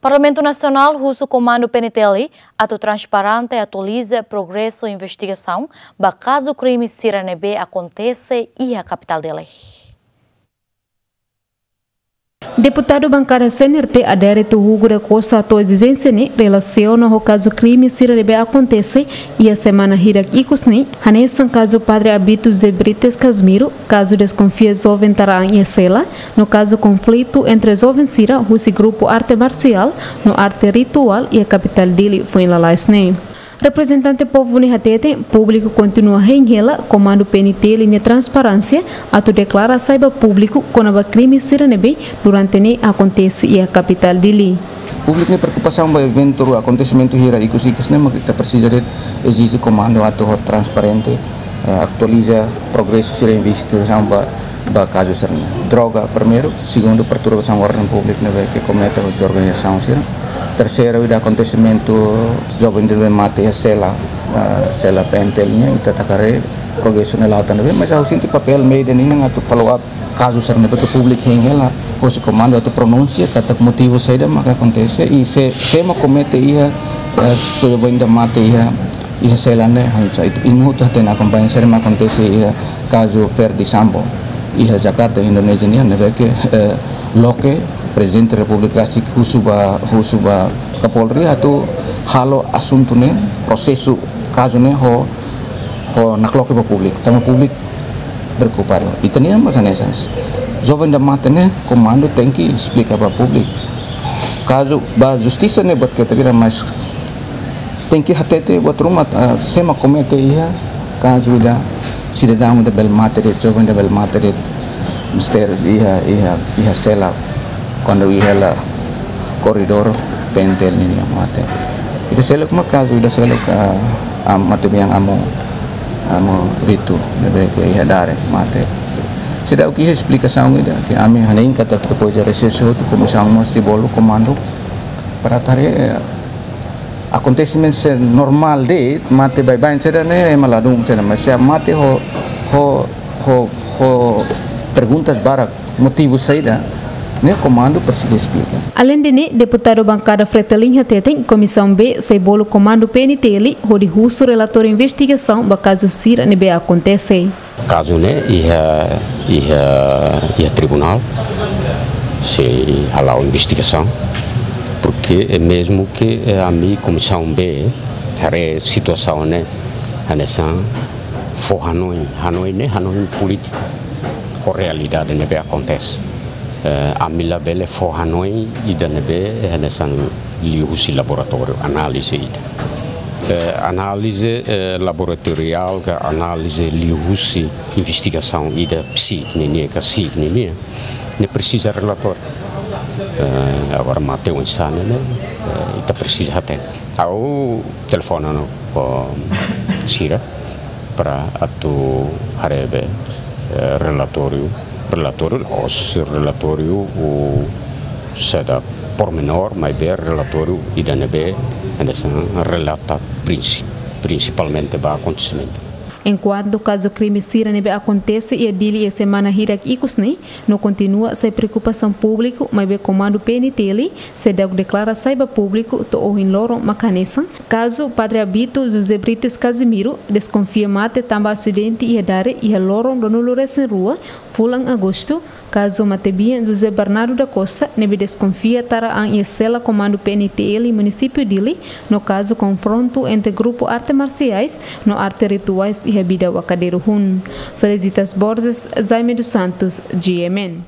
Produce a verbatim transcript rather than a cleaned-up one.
Parlamentu Nasionál husu Komandu P N T L atu transparente atualiza progresu investigasaun ba kazu krime sira ne'ebé akontese iha kapitál Dili. Deputadu bankada C N R T Adérito Hugo da Costa hato'o ezijénsia ne'e relasiona ho kazu krime sira ne'ebé akontese iha semana hirak ikus ne'e, hanesan kazu Padre Abito José Brites Casimiro, kazu deskonfia joven tara an iha sela, no kazu konflitu entre joven sira husi grupu arte marsiál no arte rituál iha kapitál Dili foin lalais ne'e. Reprezentante povu ne'e hateten, públiku kontinua hein hela Komandu P N T L nia transparénsia atu deklara sai ba públiku kona-ba krime sira ne'ebé durante ne'e akontese iha kapitál Dili. Públiku nia preokupasaun ba eventu, akontesimentu hirak ikus-ikus ne'e, mak ita presiza de'it ezije komandu atu ho transparente, eh, atualiza progresu sira investigasaun ba, ba kazu sira-ne'e. Droga primeiru, segundu perturbasaun orden públiku ne'ebé ke komete husi organizasaun sira. Terseiru, ida akontesimentu joven ne'ebé mate iha sela, eh, sela P N T L nian, ita taka haree progresu ne'e la'o tan ne'ebé, mas ha'u sente papél média nian atu follow up kazu sira ne'ebé ke públiku hein hela, husi komandu atu pronunsia katak motivu saida maka akontese, i sé, sé mak komete iha, eh, joven ida mate iha, iha sela ne'e, hanesan ita, imi hotu hatene akompaña saida mak akontese iha kazu Ferdy Sambo iha Jakarta, Indonézia nian, ne'ebé ke, eh, loke Prezidente Repúblika rasik husu ba, husu ba Kapolri atu halo asuntu ne'e, prosesu kazu ne'e ho, ho nakloke ba públiku, tanba públiku preokupadu. Ita-nian mós hanesan. Joven ida mate ne'e, komandu tenke esplika ba públiku. Kazu ba justisa ne'e buat ketak ida, mas tenke hatete buat ruma, ah, sé mak komete iha kazu ida sidadaun ida bele mate de'it, joven ida bele mate de'it, mistér iha, iha, iha sela, kuandu iha hela koridór P N T L nian mate. Ida seluk mak kazu ida seluk, ah, am, matebian Amu, Amu Ritu, ne'ebé ke iha Dare mate. Seidauk iha esplikasaun ida, ke ami hanoin katak depois de recesso hotu komisaun mós sei bolu komandu para haree, eh, akontesimentu sira normál de'it, mate baibain saida ne'e, ema ladún saida, mas se mate ho, ho, ho, ho perguntas barak, motivu saida, ne'e komandu presiza esplika. Aleinde ne'e, deputadu bankada Fretilin hateten, Komisaun B sei bolu komandu P N T L hodi husu relatóriu investigasaun ba kazu sira ne'ebé akontese. Kazu ne'e iha, iha, iha tribunál, sei hala'o investigasaun, porke é mezmu ke, eh, ami Komisaun B haree situasaun ne'e hanesan fó hanoin, hanoin ne'e hanoin polítiku ho realidade ne'ebé akontese. Eh, ami labele fó hanoin ida ne'ebé hanesan liuhusi laboratóriu, análize ida. Eh, análize, eh, laboratoriál ka análize liuhusi investigasaun ida psíkika nian ka psíkika nian, ne'e presiza relatóriu. Eh, agora mate oinsá ne'e, eh, ita presiza hatene. Ha'u telefona no, oh, sira para atu haree be, eh, relatóriu, relatóriu, os relatóriu, o, saida pormenór, maibé relatóriu ida ne'ebé hanesan relata prinsi-, prinsipalmente ba akontesimentu. Enkuantu kazu krime sira ne'ebé akontese iha Dili iha semana hirak ikus ne'e, no kontinua sai preokupasaun públiku, maibé komandu P N T L seidauk deklara sai ba públiku to'o ohin loron mak hanesan kazu Padre Abito José Brites Casimiro, deskonfia mate tanba asidente iha Dare iha loron ruanulu resin rua fulan Agostu, kazu matebian José Bernardo da Costa, ne'ebé deskonfia tara an iha sela komandu P N T L munisípiu Dili, no kazu konfrontu entre grupu arte marsiais no arte rituais iha Bida Wakadero Hun. Felicitas Borges, Jaime dos Santos, G M N.